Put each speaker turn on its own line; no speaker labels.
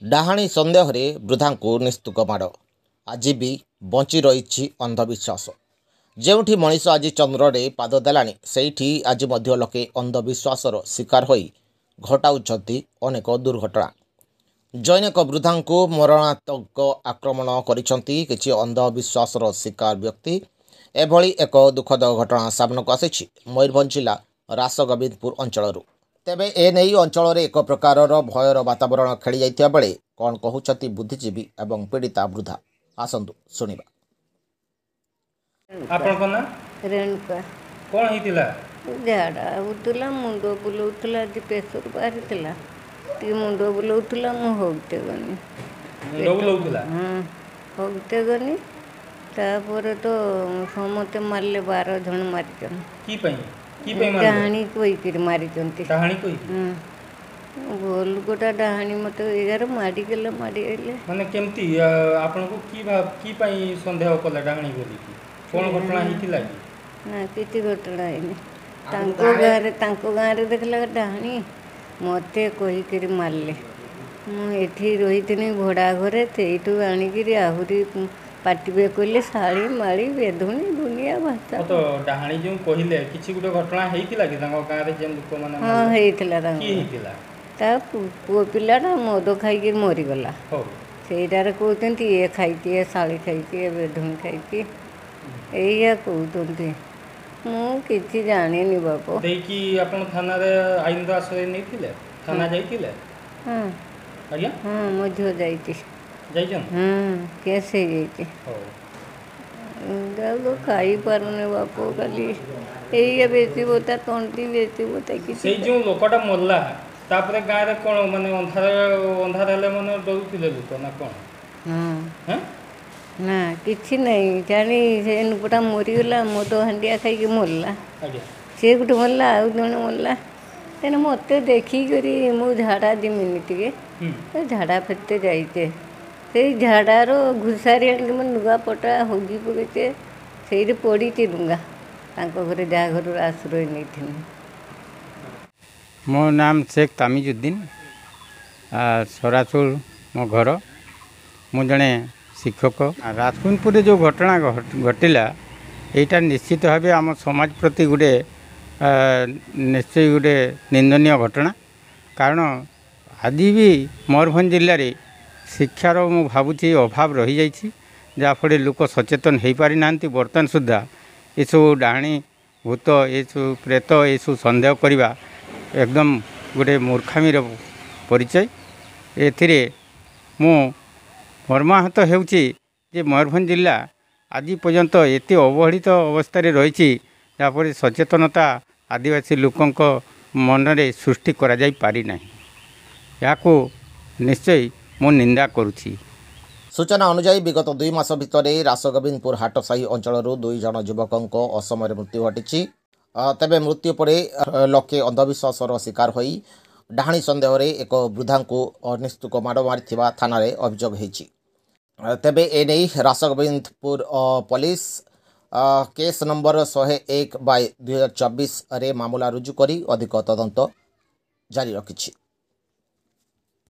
ଡାହାଣୀ ସନ୍ଦେହରେ ବୃଦ୍ଧାଙ୍କୁ ନିସ୍ତୁକ ମାଡ଼। ଆଜି ବି ବଞ୍ଚି ରହିଛି ଅନ୍ଧବିଶ୍ୱାସ। ଯେଉଁଠି ମଣିଷ ଆଜି ଚନ୍ଦ୍ରରେ ପାଦ ଦେଲାଣି, ସେଇଠି ଆଜି ମଧ୍ୟ ଲୋକେ ଅନ୍ଧବିଶ୍ୱାସର ଶିକାର ହୋଇ ଘଟାଉଛନ୍ତି ଅନେକ ଦୁର୍ଘଟଣା। ଜୈନିକ ବୃଦ୍ଧାଙ୍କୁ ମରଣାନ୍ତକ ଆକ୍ରମଣ କରିଛନ୍ତି କିଛି ଅନ୍ଧବିଶ୍ୱାସର ଶିକାର ବ୍ୟକ୍ତି। ଏଭଳି ଏକ ଦୁଃଖଦ ଘଟଣା ସାମ୍ନାକୁ ଆସିଛି ମୟୂରଭଞ୍ଜ ଜିଲ୍ଲା ରାସଗୋବିନ୍ଦପୁର ଅଞ୍ଚଳରୁ। ତେବେ ଏନେଇ ଅଞ୍ଚଳରେ ଏକ ପ୍ରକାରର ଭୟର ବାତାବରଣ ଖେଳିଯାଇଥିବା ବେଳେ କ'ଣ କହୁଛନ୍ତି ବୁଦ୍ଧିଜୀବୀ ଏବଂ ପୀଡ଼ିତା ବୃଦ୍ଧା, ଆସନ୍ତୁ ଶୁଣିବା।
ଆପଣଙ୍କ ନାଁ?
ରେଣୁକା।
କ'ଣ ହେଇଥିଲା?
ଝାଡ଼ା ହେଉଥିଲା, ମୁଣ୍ଡ ବୁଲଉଥିଲା। ଆଜି ପ୍ରେସର ବାହାରିଥିଲା, ଟିକେ ମୁଣ୍ଡ ବୁଲଉଥିଲା। ମୁଁ ହଗତେ ଗନି।
ମୁଣ୍ଡ ବୁଲଉଥିଲା?
ହଁ, ହଗତେ ଗନି। ତାପରେ ତ ସମସ୍ତେ ମାରିଲେ, 12 ଜଣ ମାରିଛନ୍ତି।
କି ପାଇଁ, କି ପାଇଁ ମାରିଲେ?
ଡାହାଣୀ କହିକିରି ମାରିଛନ୍ତି।
ଡାହାଣୀ କହିକି?
ହଁ, ଭଲ ଲୋକଟା ଡାହାଣୀ ମୋତେ ଏଗାର ମାଡ଼ିଗଲେ, ମାଡ଼ିଗଲେ।
ମାନେ କେମିତି ଆପଣଙ୍କୁ କି ପାଇଁ ସନ୍ଦେହ କଲେ ଡାହାଣୀ ବୋଲିକି? କ'ଣ ଘଟଣା ହେଇଥିଲା କି?
ନା, କିଛି ଘଟଣା ହେଇନି। ତାଙ୍କ ଗାଁରେ ଦେଖିଲା ଡାହାଣୀ, ମୋତେ କହିକିରି ମାରିଲେ। ମୁଁ ଏଠି ରହିଥିନି ଭଡ଼ା ଘରେ, ସେଇଠୁ ଆଣିକିରି ଆହୁରି ପାଟିବେ କହିଲେ, ଶାଳୀ ମାଳି ବେଧୁଣି ଦୁନିଆ ଭାଷା।
ତ ଡାହାଣୀ ଯେଉଁ କହିଲେ, କିଛି ଗୋଟେ ଘଟଣା ହେଇଥିଲା କି ତାଙ୍କ ଗାଁରେ ଯେଉଁ ଲୋକମାନେ?
ହଁ, ହେଇଥିଲା।
କି
ତାଙ୍କ
ହେଇଥିଲା?
ତା ପୁଅ ପିଲାଟା ମଦ ଖାଇକି ମରିଗଲା।
ହଉ।
ସେଇଟାରେ କହୁଛନ୍ତି ଇଏ ଖାଇଛି, ଏ ଶାଳୀ ଖାଇଛି, ଏ ବେଧୁଣି ଖାଇଛି, ଏଇଆ କହୁଛନ୍ତି। ମୁଁ କିଛି ଜାଣିନି ବାପ।
ଦେଇକି ଆପଣ ଥାନାରେ ଆଇନର ଆଶ୍ରୟ ନେଇଥିଲେ? ଥାନା ଯାଇଥିଲେ?
ହଁ।
ଆଜ୍ଞା?
ହଁ, ମୋ ଝିଅ ଯାଇଛି।
ଯାଇଛନ୍ତି?
ହଁ, କେସ୍ ହେଇଯାଇଛି।
ହଉ।
ଆଉ ଖାଇପାରୁନି ବାପ, ଖାଲି ଏଇଆ ବେଶୀ ବତା, ତଣ୍ଟି ବେଶୀ ବତା କିଛି।
ସେଇ ଯେଉଁ ଲୋକଟା ମଲା, ତାପରେ ଗାଁରେ କ'ଣ ମାନେ ଅନ୍ଧାର ଅନ୍ଧାର ହେଲେ ମାନେ ଡରୁଥିଲେ ଲୋକ ନା କ'ଣ?
ହଁ।
ହେଁ?
ନା, କିଛି ନାହିଁ ଜାଣି। ସେ ଲୋକଟା ମରିଗଲା, ମଦ ହାଣ୍ଡିଆ ଖାଇକି ମରିଲା।
ଆଜ୍ଞା।
ସେ ଗୋଟେ ମରିଲା, ଆଉ ଜଣେ ମରିଲା। ତେଣୁ ମୋତେ ଦେଖିକରି, ମୁଁ ଝାଡ଼ା ଯିମିନି ଟିକେ, ଝାଡ଼ା ଫେରତେ ଯାଇଛେ, ସେଇ ଝାଡ଼ାର ଘୁଷାରି ଆଣିକି ମୋ ଲୁଗାପଟା ହଗି ପକେଇଛେ, ସେଇଠି ପଡ଼ିଛି ଡୁଙ୍ଗା ତାଙ୍କ ଘରେ, ଯାହା ଘରୁ ଆଶ୍ରୟ ନେଇଥିନି।
ମୋ ନାମ ଶେଖ ତାମିଜୁଦ୍ଦିନ, ସରାସୁର ମୋ ଘର। ମୁଁ ଜଣେ ଶିକ୍ଷକ। ରାଜକୁନ୍ଦପୁରରେ ଯେଉଁ ଘଟଣା ଘଟିଲା, ଏଇଟା ନିଶ୍ଚିତ ଭାବେ ଆମ ସମାଜ ପ୍ରତି ଗୋଟେ ନିଶ୍ଚୟ ଗୋଟେ ନିନ୍ଦନୀୟ ଘଟଣା। କାରଣ ଆଜି ବି ମୟୂରଭଞ୍ଜ ଜିଲ୍ଲାରେ ଶିକ୍ଷାର ମୁଁ ଭାବୁଛି ଅଭାବ ରହିଯାଇଛି, ଯାହାଫଳରେ ଲୋକ ସଚେତନ ହୋଇପାରିନାହାନ୍ତି। ବର୍ତ୍ତମାନ ସୁଦ୍ଧା ଏସବୁ ଡାହାଣୀ, ଭୂତ, ଏସବୁ ପ୍ରେତ, ଏସବୁ ସନ୍ଦେହ କରିବା ଏକଦମ ଗୋଟେ ମୂର୍ଖାମିର ପରିଚୟ। ଏଥିରେ ମୁଁ ମର୍ମାହତ ହେଉଛି ଯେ ମୟୂରଭଞ୍ଜ ଜିଲ୍ଲା ଆଜି ପର୍ଯ୍ୟନ୍ତ ଏତେ ଅବହେଳିତ ଅବସ୍ଥାରେ ରହିଛି, ଯାହାଫଳରେ ସଚେତନତା ଆଦିବାସୀ ଲୋକଙ୍କ ମନରେ ସୃଷ୍ଟି କରାଯାଇ ପାରିନାହିଁ। ଏହାକୁ ନିଶ୍ଚୟ ମୁଁ ନିନ୍ଦା କରୁଛି।
ସୂଚନା ଅନୁଯାୟୀ, ବିଗତ 2 ମାସ ଭିତରେ ରାସଗୋବିନ୍ଦପୁର ହାଟସାହି ଅଞ୍ଚଳରୁ 2 ଜଣ ଯୁବକଙ୍କ ଅସମୟରେ ମୃତ୍ୟୁ ଘଟିଛି। ତେବେ ମୃତ୍ୟୁ ପରେ ଲୋକେ ଅନ୍ଧବିଶ୍ୱାସର ଶିକାର ହୋଇ ଡାହାଣୀ ସନ୍ଦେହରେ ଏକ ବୃଦ୍ଧାଙ୍କୁ ଅନିସ୍ତୁକ ମାଡ଼ ମାରିଥିବା ଥାନାରେ ଅଭିଯୋଗ ହୋଇଛି। ତେବେ ଏନେଇ ରାସଗୋବିନ୍ଦପୁର ପୋଲିସ କେସ୍ ନମ୍ବର 101/2024ରେ ମାମଲା ରୁଜୁ କରି ଅଧିକ ତଦନ୍ତ ଜାରି ରଖିଛି।